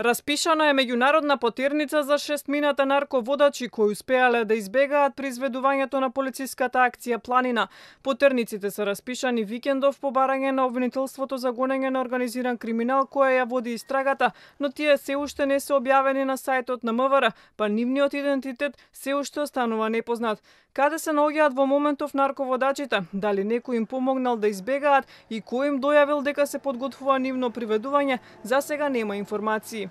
Распишана е меѓународна потерница за 6 нарководачи кои успеале да избегаат при изведувањето на полициската акција Планина. Потерниците се распишани викендов по барање на обвинителството за гонење на организиран криминал која ја води истрагата, но тие се уште не се објавени на сајтот на МВР, па нивниот идентитет се уште останува непознат. Каде се наоѓаат во моментов нарководачите? Дали некој им помогнал да избегаат и кој им дојавил дека се подготвува нивно приведување? За сега нема информации.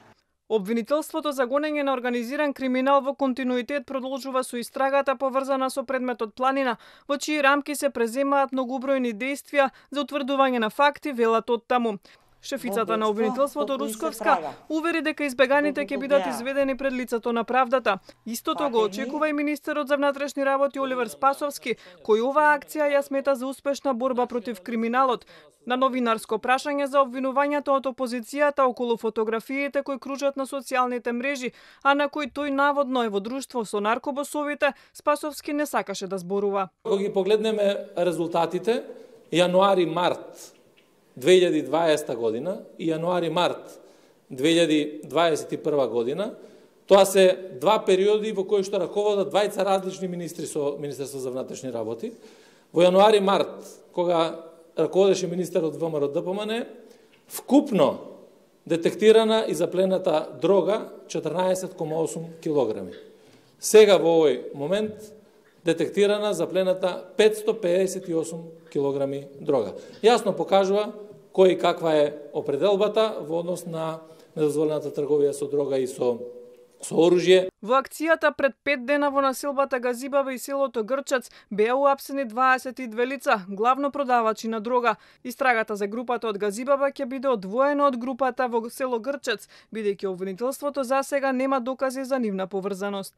Обвинителството за гонење на организиран криминал во континуитет продолжува со истрагата поврзана со предметот Планина, во чии рамки се преземаат многобројни действија за утврдување на факти, велат од таму. Шефицата на обвинителството Русковска увери дека избеганите ќе бидат изведени пред лицето на правдата. Истото го очекува и министерот за внатрешни работи Оливер Спасовски, кој оваа акција ја смета за успешна борба против криминалот. На новинарско прашање за обвинувањето од опозицијата околу фотографиите кои кружат на социјалните мрежи, а на кои тој наводно е во друштво со наркобосовите, Спасовски не сакаше да зборува. Кога ги погледнеме резултатите, јануари-март 2020 година и јануари-март 2021 година, тоа се два периоди во кои што раководат двајца различни министри со Министерство за внатрешни работи. Во јануари-март, кога раководеше министерот ВМРО ДПМН, вкупно детектирана и заплената дрога 14,8 килограми. Сега во овој момент детектирана заплената 558 килограми дрога. Јасно покажува кој и каква е определбата во однос на недозволената трговија со дрога и со оружје. Во акцијата пред 5 дена во населбата Газибаба и селото Грчац беа уапсени 22 лица, главно продавачи на дрога. Истрагата за групата од Газибаба ќе биде одвоена од групата во село Грчац, бидејќи обвинителството за сега нема докази за нивна поврзаност.